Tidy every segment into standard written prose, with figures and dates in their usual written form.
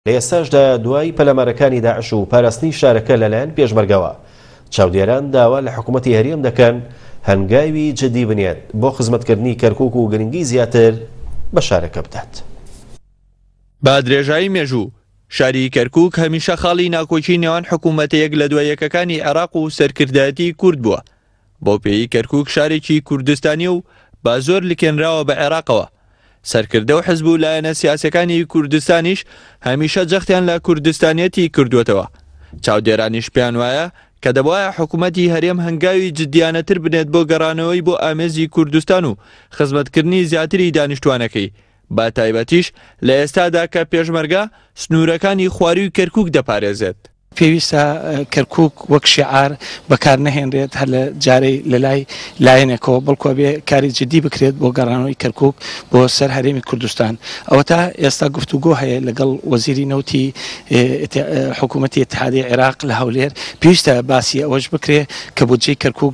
لە ئێستاشدا دوای پەلامارەکانی داعش و پاراستنی شارەکە لەلایەن پێشمەرگەوە، چاودێران داوا لە حکومەتی هەرێم دەکەن هەنگاوی جدی بنێت بۆ خزمەتکردنی کەرکوک و گرنگی زیاتر بە شارەکە بدات. بە درێژایی مێژوو، شاری کەرکوک هەمیشە خاڵی ناکۆکی نێوان حکومەتە یەک لە دوا یەکەکانی عێراق و سەرکردایەتی کورد بووە، بەو پێیەی کەرکوک شارێکی کوردستانیە و بە زۆر لکێنراوە بە عێراقەوە، سەرکردە و حزب و لایەنە سیاسیەکانی کوردستانیش هەمیشە جەختیان لە کوردستانیەتی کردووەتەوە، چاودێرانیش پێیان وایە کە دەبوایە حکومەتی هەرێم هەنگاوی جدیانەتر بنێت بۆ گەڕانەوەی بۆ ئامێزی کوردستان و خزمەتکردنی زیاتری دانیشتوانەکەی، بە تایبەتیش لە ئێستادا کە پێشمەرگە سنوورەکانی خوارووی کەرکوک دەپارێزێت. پێویستە کەرکوک وەک شیعار بەکار نەهێنرێت هەر لە جارەی لە لای لایەنێکەوە، بەڵکو ئەبێ کاری جدی بکرێت بۆ گەڕانەوەی کەرکوک بۆ سەر هەرێمی کوردستان. ئەوەتا ئێستا گفتوگۆ هەیە لەگەڵ وەزیری نەوتی حکوومەتی ئیتحادی عێراق لە هەولێر، پێویستە باسی ئەوەش بکرێ کە بودجەی کەرکوک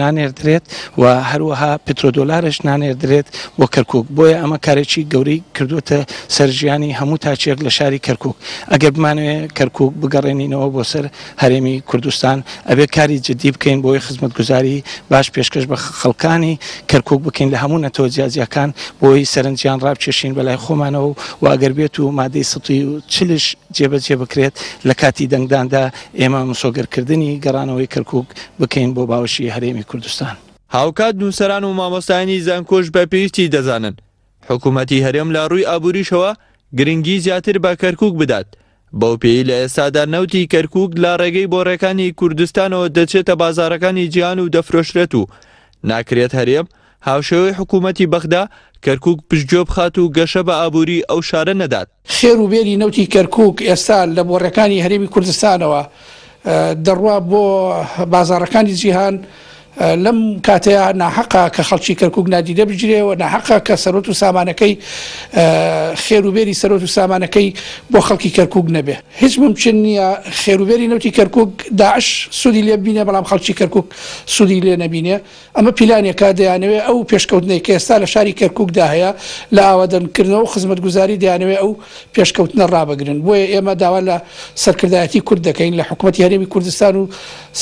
نانێردرێت و هەروەها پترۆدۆلارش نانێردرێت بۆ کەرکوک، بۆیە ئەمە کارێکی گەورەی کردووەتە سەر ژیانی هەموو تاکێک لە شاری کەرکوک. ئەگەر بمانەوێ کەرکوک بگەڕێنینەوە بۆ سەر هەرێمی کوردستان ئەبێ کاری جدی بکەین بۆی خزمەتگوزاری باش پێشکەش بە خەڵکانی کەرکوک بکەین لە هەموو نەتەوە جیاجیاکان بۆی سەرنجیان ڕابکێشین بەلای خۆمانەوە و ئەگەر بێت و مادەی 140 جێبەجێ بکرێت لە کاتی دەنگداندا ئێمە مسۆگەرکردنی گەڕانەوەی کەرکوک بکەین بۆ باوەشی هەرێمی کوردستان. هاوکات نووسەران و مامۆستایانی زانکۆش بە پێویستی دەزانن حکومەتی هەرێم لە ڕووی ئابووریشەوە گرنگی زیاتر بە کەرکوک بدات، بەو پێیەی لە ئێستادا نەوتی کەرکوک لە ڕێگەی بۆڕێکانی کوردستانەوە دەچێتە بازاڕەکانی جیهان و دەفرۆشرێت و ناکرێت هەرێم هاوشێوەی حکومەتی بەغدا کەرکوک پشتگوێ بخات و گەشە بە ئابووری ئەو شارە نەدات. خێر و بێری نەوتی کەرکوک ئێستا لە بۆڕێکانی هەرێمی کوردستانەوە دەڕوا بۆ بازاڕەکانی جیهان، لەم کاتەیا ناحەقە کە خەڵکی کەرکوک نادیدە بگیرێ و ناحەقە کە سەروەت و سامانەکەی خێر و بێری سەروەت و سامانەکەی بۆ خەڵکی کەرکوک نەبێ. هیچ مومکین نییە خێر و بێری نەوتی کەرکوک داعش سوودی لێ ببینێ بەڵام خەڵکی کەرکوک سوودی لێ نەبینێ. ئەمە پیلانێکە دەیانەوێ ئەو پێشکەوتنەی کە ئێستا لە شاری کەرکوکدا هەیە لە ئاوادەنکردنەوە و خزمەتگوزاری دەیانەوێ ئەو پێشکەوتنە ڕابگرن. بۆیە ئێمە داوا لە سەرکردایەتی کورد دەکەین، لە حکومەتی هەرێمی کوردستان و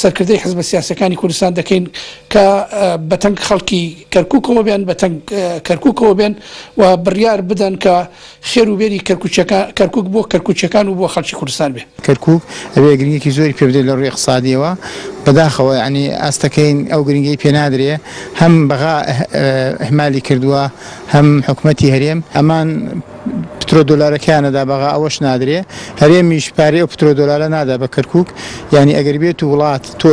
سەرکردەی حزبە سیاسیەکانی کوردستان دەکەین کە بەتەنگ خەڵکی کەرکوکەوە بێن، بەتەنگ کەرکوکەوە بێن و بڕیار بدەن کە خێر و بێری کەرکوکیەکان، کەرکوک بۆ کەرکوکیەکان و بۆ خەڵکی کوردستان بێ. کەرکوک ئەبێ گرنگیەکی زۆری پێ بدرێت لە ڕووی ئیقتسادیەوە، بەداخەوە یانی ئاستەکەی ئەو گرنگیەی پێ نادرێ، هەم بەغا ئیهمالی کردووە هەم حکومەتی هەرێم، ئەمان پترۆ دۆلارەکەیان ئەدا بەغا ئەوەش نادرێ، هەرێمیش پارەی ئەو پترۆ دۆلارە نادا بە کەرکوک، یانی ئەگەر بێت و وڵات تۆ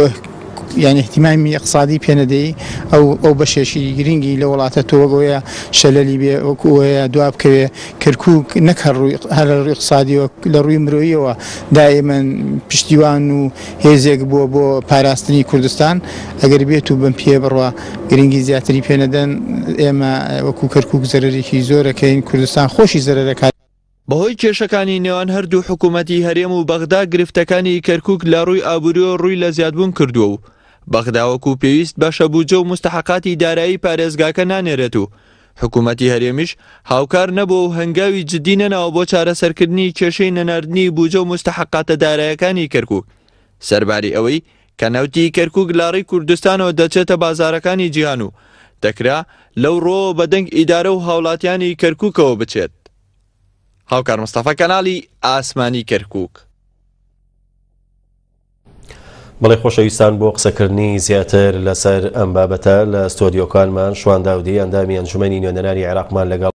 یانی ئیهتیمامی ئیقتسادی پێ نەدەی ئەو ئەو بەشێکی گرنگی لە وڵاتە تۆ وەک ئەوەیە شەلەلی بێ وەک ئەوەیە دوا بکەوێ کەرکوک نەک هەر ڕووی هەر لە ڕووی ئیقتسادیەوە لە ڕووی مرۆییەوە دائیمەن پشتیوان و هێزێک بووە بۆ پاراستنی کوردستان ئەگەر بێت و بەم پێیە بڕوا گرنگی زیاتری پێ نەدەن ئێمە وەکو کەرکوک زەرەرێکی زۆرەکەین کوردستان خۆشی زەرەرەکات. بەهۆی کێشەکانی نێوان هەردوو حکوومەتی هەرێم و بەغدا گرفتەکانی کەرکووک لە ڕووی ئابووریەوە ڕووی لە زیادبوون کردووە و بەغدا وەکو پێویست بەشە بودجە و موستەحەقاتی دارایی پارێزگاکە نانێرێت و حکوومەتی هەرێمیش هاوکار نەبووە و هەنگاوی جدی نەناوە بۆ چارەسەرکردنی کێشەی نەناردنی بودجە و موستەحەقاتە دارایەکانی کەرکووک سەرباری ئەوەی کە نەوتی کەرکووک لە ڕێی کوردستانەوە دەچێتە بازارەکانی جیهان و دەکرا لەو ڕووەوە بە دەنگ ئیدارە و هاوڵاتیانی کەرکووکەوە بچێت. هاوکار مستەفا کەناڵی ئاسمانی کەرکووک. بەڵێ خۆشەویستان بۆ قسەکردنی زیاتر لەسەر ئەم بابەتە لە ستۆدیۆکانمان شوان داودی ئەندامی ئەنجومەنی نوێنەرانی عێراقمان لەگەڵ.